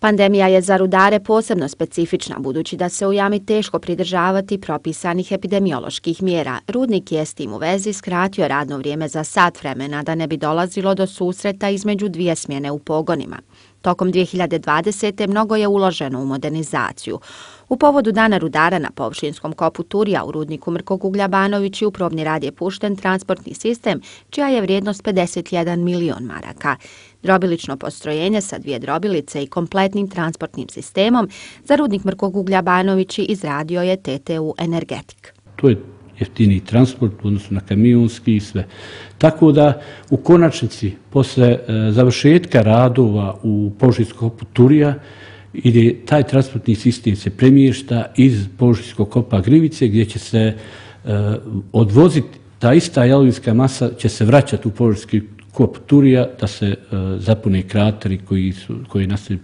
Pandemija je za rudare posebno specifična, budući da se u jami teško pridržavati propisanih epidemioloških mjera. Rudnik je s tim u vezi skratio radno vrijeme za sat vremena da ne bi dolazilo do susreta između dvije smjene u pogonima. Tokom 2020. mnogo je uloženo u modernizaciju. U povodu Dana rudara na površinskom kopu Turija u rudniku Mrkog uglja Banovići u probni rad je pušten transportni sistem, čija je vrijednost 51 milion maraka. Drobilično postrojenje sa 2 drobilice i kompletnim transportnim sistemom za rudnik Mrkog uglja Banovići izradio je TTU Energetik. To je jeftiniji transport u odnosu na kamionski i sve. Tako da u konačnici posle završetka radova u površinskom kopu Turija ide taj transportni sistem se premješta iz površinskog kopa Grivice gdje će se odvoziti ta ista jalovinska masa će se vraćati u površinski kop Turija da se zapune krateri koji nastaju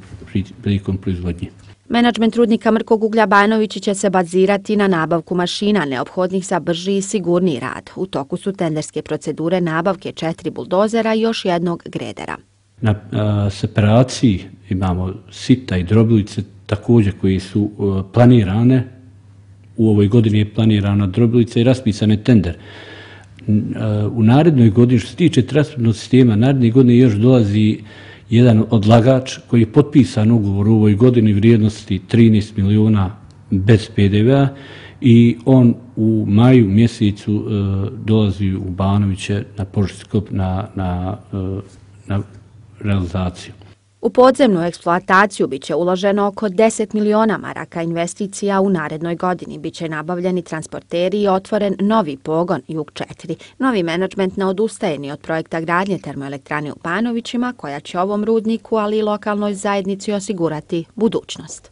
prilikom proizvodnje. Menadžment rudnika Mrkog uglja Banovići će se bazirati na nabavku mašina neophodnih za brži i sigurniji rad. U toku su tenderske procedure nabavke 4 buldozera i još jednog gredera. Na separaciji imamo sita i drobilice također koji su planirane. U ovoj godini je planirana drobilica i raspisan je tender. U narednoj godini, što se tiče transportnog sistema, naredne godine još dolazi jedan odlagač koji je potpisan ugovor u ovoj godini vrijednosti 13 miliona bez PDV-a i on u maju mjesecu dolazi u Banoviće na površinski na realizaciju. U podzemnu eksploataciju biće uloženo oko 10 miliona maraka investicija u narednoj godini. Biće nabavljeni transporteri i otvoren novi pogon Jug 4. Novi menadžment ne odustaje ni od projekta gradnje termoelektrane u Banovićima, koja će ovom rudniku, ali i lokalnoj zajednici osigurati budućnost.